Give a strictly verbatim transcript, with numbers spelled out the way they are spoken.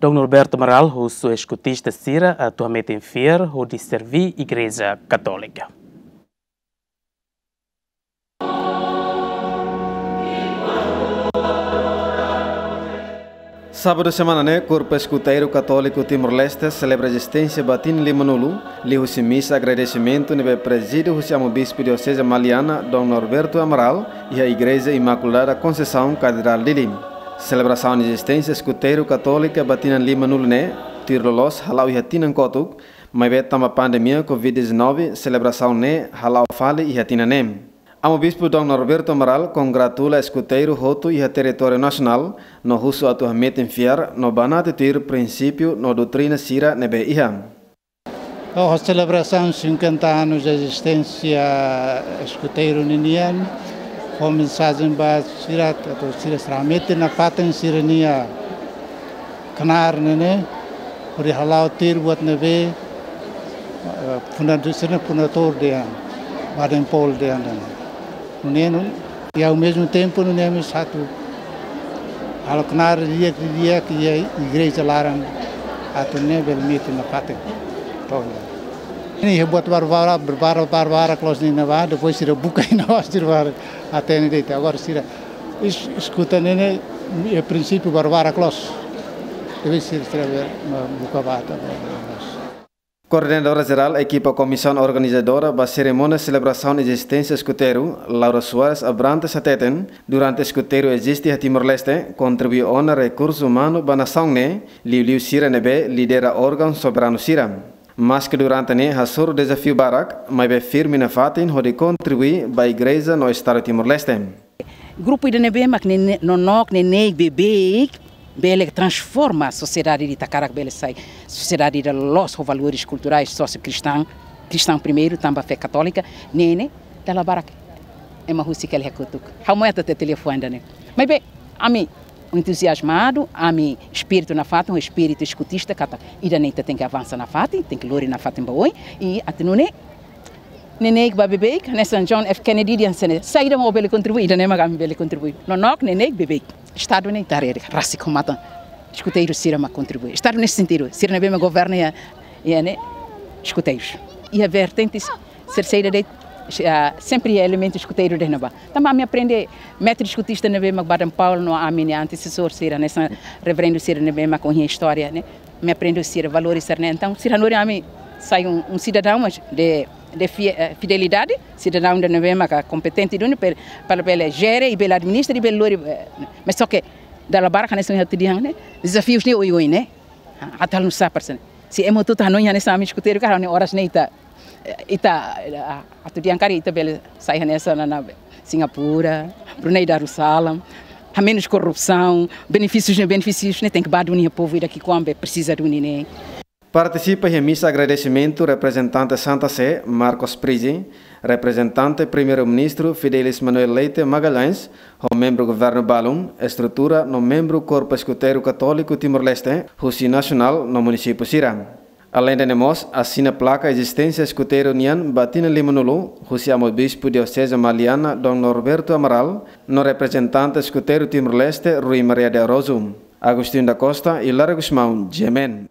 Dom Norberto Amaral husu eskutista sira atu hametin fiar hodi serví Igreja Katólika. Sábadu semana ne'e, Korpu Eskuteiru Katóliku Timor-Leste selebra ezisténsia ba tinan limanulu, liuhusi misa agradesimentu ne'ebé prezide husi Amu Bispu Dioseze Maliana, Dom Norberto Amaral, iha Igreja Imakulada Konseisaun, Katedrál Dili. Selebrasaun ezisténsia eskuteiru katólika ba tinan limanulu ne'e tuir loloos hala'o iha tinan kotuk, maibé tanba pandemia covid dezanove, selebrasaun ne'e hala'o fali iha tinan ne'e. Amu Bispu Dom Norberto Amaral kongratula eskuteiru hotu iha territóriu nasionál, no husu atu hametin fiar no banati tuir prinsípiu no doutrina sira ne'ebé iha. Ho selebrasaun cinquenta anos de existência eskuteiru ninian, ho mensajen ba sira, atu sira hametin nafatin sira-nia knaar ne'e ne'e, hodi hala'o tuir buat ne'ebé, eh, fundadór, sira-nia fundadór dehan, Baden Powell dehan ne'e ne'e. Nune'e, e ao mesmo tempo, nune'e mós atu halo knaar di'ak, di'ak iha igreja laran, atu nune'e bele metin nafatin. Entaun, ne'e iha buat barbarak, barbarak, barbarak, close ne'e ne'ebá, depois sira buka iha ne'ebá, sira bá hatene de'it. Agora sira es-, eskuta ne'e ne'e, iha prinsípiu barbarak close. Depois sira, sira bele, ma, buka bata, bele, bele. Koordenadora Jerál Ekipa Komisaun Organizadora ba serimónia selebrasaun ezisténsia eskuteiru, Laura Soares Abrantes hateten, durante eskuteiru eziste iha Timor-Leste, kontribui ona rekursu umanu ba nasaun ne'e, liuliu sira ne'ebé lidera órgaun soberanu sira. Maske durante ne'e hasoru dezafiu barak, maibé firme nafatin hodi kontribui ba Igreja no Estadu Timor-Leste. Grupu ida ne'ebé mak ne'e, ne'e, nonook neineik beibeik bele transforma sosiedade ida, hakarak bele sai sosiedade ida loloos ho valores kulturais, sósiu-kristaun, kristaun primeiru, tanba fé katólika, ne'e ne'e dala barak ema husik hela iha kotuk. Ha'u moe atu hatete liafuan ida-ne'e. Maibé, ami entuziazmadu, ami espíritu nafatin, espíritu eskutista, katak ida-ne'e ita tenke avansa nafatin, tenke lori nafatin ba oin, i atu nune'e, neineik ba beibeik, hanesan John F Kennedy dehan hanesan ne'e, saida mak ó bele kontribui, ida-ne'e mak ami bele kontribui. Nonook neineik beibeik. Estadu ne'e ita haree de'it, rasik ho matan. Eskuteiru sira mak kontribui. Estadu nesse sentido, sira ne'ebé mak governa iha, iha ne'e, eskuteiru. Iha vertentes, sira saida de'it, ah, sempre iha elementu eskuteiru de'it ne'ebá. Tanba ami aprende, mestre eskutista ne'ebé mak Baden Powell no ami-nia antesesór sira, hanesan reverendu sira ne'ebé mak ohin iha istória ne'e. Ami aprende sira valores sira-ne'e. Entaun, sira hanorin ami sai um, um cidadão, mas de, de fi-, eh, fidelidade, cidadão ida ne'ebé maka kompetente duni, per-, para bele jere, i bele administra, i bele lori, eh, mas só que, dala barak hanesan ohin ha'u dehan ne'e, dezafius ne'e oioin ne'e. Ah, atu halo nusá para hanesan ne'e. Se ema hotu-hotu hanoin hanesan ami eskuteiru, karik ne'e oras ne'e ita, eh, ita, eh, atu dehan karik ita bele sai hanesan iha ne'ebá, Singapura, Brunei Darussalam, hamenus korrupsaun, benefísius ne'e, benefísius ne'e tenke ba duni iha povu ida ki'ikoan be presiza duni ne'e. Partisipa iha misa agradesimentu reprezentante Santa Sé, Marcos Prizi, reprezentante Primeiru-Ministru Fidelis Manuel Leite Magalhães, ho membru governu balun, estrutura no membru Korpu Eskuteiru Katóliku Timor-Leste, husi nasionál no munisípiu sira. Aleinde ne'e mós, asina plaka ezisténsia eskuteiru nian ba tinan limanulu, husi Amu Bispu Dioseze Maliana, Dom Norberto Amaral, no reprezentante eskuteiru Timor-Leste, Rui Maria de Araújo. Agostinho da Costa i Lara Gusmão, G M N.